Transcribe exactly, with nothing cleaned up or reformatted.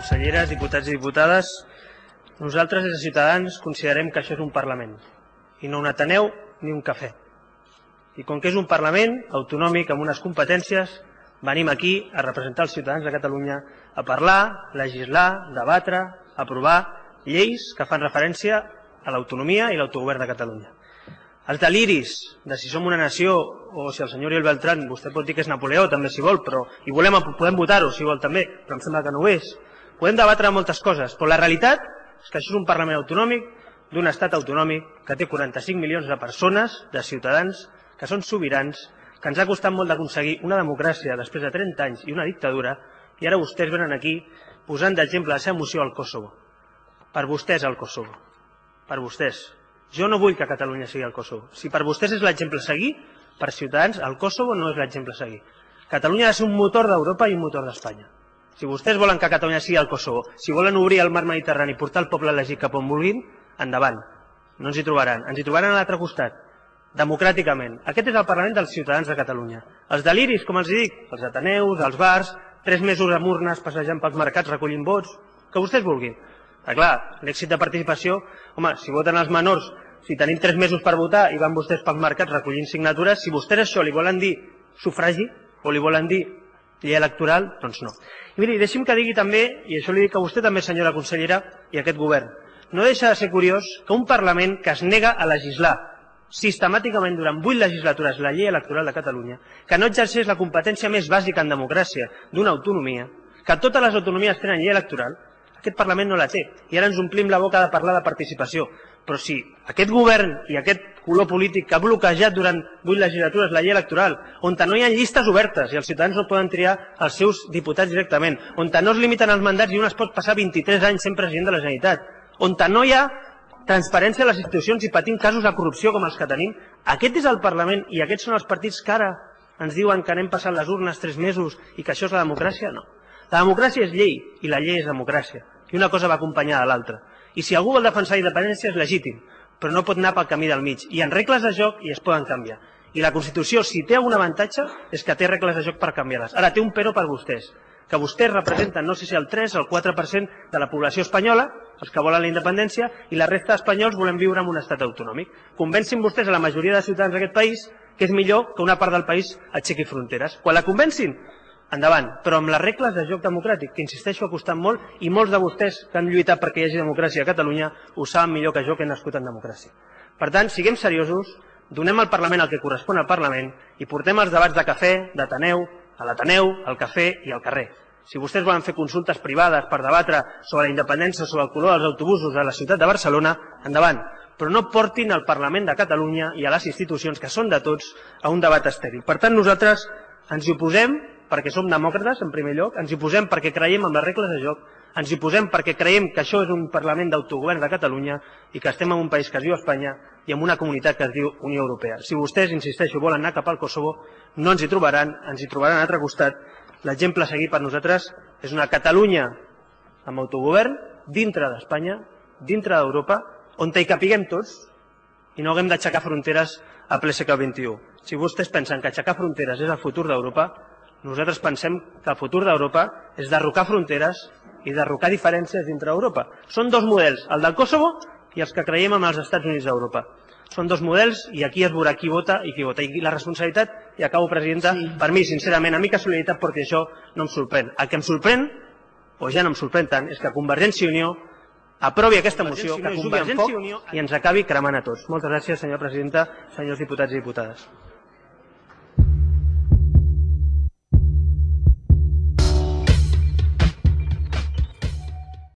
conselleres, diputats i diputades, nosaltres des de Ciutadans considerem que això és un Parlament i no un Ateneu ni un cafè. I com que és un Parlament autonòmic amb unes competències, venim aquí a representar els ciutadans de Catalunya, a parlar, legislar, debatre, aprovar lleis que fan referència a l'autonomia i l'autogovern de Catalunya. Els deliris de si som una nació o si el senyor Oriol Beltrán, vostè pot dir que és Napoleó també si vol, però i volem, podem votar-ho si vol també, però em sembla que no ho és. Podem debatre moltes coses, però la realitat és que això és un Parlament autonòmic d'un estat autonòmic que té quaranta-cinc milions de persones, de ciutadans, que són sobirans, que ens ha costat molt d'aconseguir una democràcia després de trenta anys i una dictadura, i ara vostès venen aquí posant d'exemple la seva moció al Kosovo. Per vostès el Kosovo. Per vostès. Jo no vull que Catalunya sigui el Kosovo. Si per vostès és l'exemple a seguir, per Ciutadans el Kosovo no és l'exemple a seguir. Catalunya ha de ser un motor d'Europa i un motor d'Espanya. Si vostès volen que Catalunya sigui el Kosovo, si volen obrir el mar Mediterrani i portar el poble elegit cap on vulguin, endavant. No ens hi trobaran. Ens hi trobaran a l'altre costat. Democràticament. Aquest és el Parlament dels ciutadans de Catalunya. Els deliris, com els dic, els ateneus, els bars, tres mesos amb urnes passejant pels mercats recollint vots, que vostès vulguin. Però clar, l'èxit de participació, home, si voten els menors, si tenim tres mesos per votar i van vostès pels mercats recollint signatures, si vostès això li volen dir sufragi o li volen dir llei electoral, doncs no. I miri, deixi'm que digui també, i això li dic a vostè també, senyora consellera, i a aquest govern, no deixa de ser curiós que un Parlament que es nega a legislar sistemàticament durant vuit legislatures la llei electoral de Catalunya, que no exerceix la competència més bàsica en democràcia d'una autonomia, que totes les autonomies tenen llei electoral, aquest Parlament no la té. I ara ens omplim la boca de parlar de participació. Però si aquest govern i aquest color polític que ha bloquejat durant vuit legislatures la llei electoral, on no hi ha llistes obertes i els ciutadans no poden triar els seus diputats directament, on no es limiten els mandats i un es pot passar vint-i-tres anys sent president de la Generalitat, on no hi ha transparència a les institucions i patim casos de corrupció com els que tenim, aquest és el Parlament i aquests són els partits que ara ens diuen que anem passant les urnes tres mesos i que això és la democràcia? No. La democràcia és llei i la llei és democràcia. I una cosa va acompanyada de l'altra. I si algú vol defensar la independència és legítim, però no pot anar pel camí del mig. Hi ha regles de joc i es poden canviar. I la Constitució, si té algun avantatge, és que té regles de joc per canviar-les. Ara, té un però per vostès, que vostès representen, no sé si el tres o el quatre per cent de la població espanyola, els que volen la independència, i la resta d'espanyols volem viure en un estat autonòmic. Convencin vostès a la majoria de ciutadans d'aquest país que és millor que una part del país aixequi fronteres. Quan la convencin, endavant, però amb les regles de joc democràtic, que insisteixo ha costat molt, i molts de vostès que han lluitat perquè hi hagi democràcia a Catalunya ho saben millor que jo, que he nascut en democràcia. Per tant, siguem seriosos, donem al Parlament el que correspon al Parlament i portem els debats de cafè, d'Ateneu, a l'Ateneu, al cafè i al carrer. Si vostès volen fer consultes privades per debatre sobre la independència, sobre el color dels autobusos a la ciutat de Barcelona, endavant, però no portin al Parlament de Catalunya i a les institucions, que són de tots, a un debat estèril. Per tant, nosaltres ens hi oposem perquè som demòcrates, en primer lloc, ens hi posem perquè creiem en les regles de joc, ens hi posem perquè creiem que això és un Parlament d'autogovern de Catalunya i que estem en un país que es diu Espanya i en una comunitat que es diu Unió Europea. Si vostès, insisteixo, volen anar cap al Kosovo, no ens hi trobaran, ens hi trobaran a l'altre costat. L'exemple a seguir per nosaltres és una Catalunya amb autogovern dintre d'Espanya, dintre d'Europa, on hi capiguem tots i no haguem d'aixecar fronteres a ple segle vint-i-u. Si vostès pensen que aixecar fronteres és el futur d'Europa, nosaltres pensem que el futur d'Europa és derrocar fronteres i derrocar diferències dintre d'Europa. Són dos models, el del Kosovo i els que creiem en els Estats Units d'Europa. Són dos models i aquí es veurà qui vota i qui vota. I la responsabilitat, i acabo, presidenta, per mi, sincerament, a mi que solidaritat perquè això no em sorprèn. El que em sorprèn, o ja no em sorprèn tant, és que Convergència i Unió aprovi aquesta moció, que jugui en foc i ens acabi cremant a tots. Moltes gràcies, senyora presidenta, senyors diputats i diputades.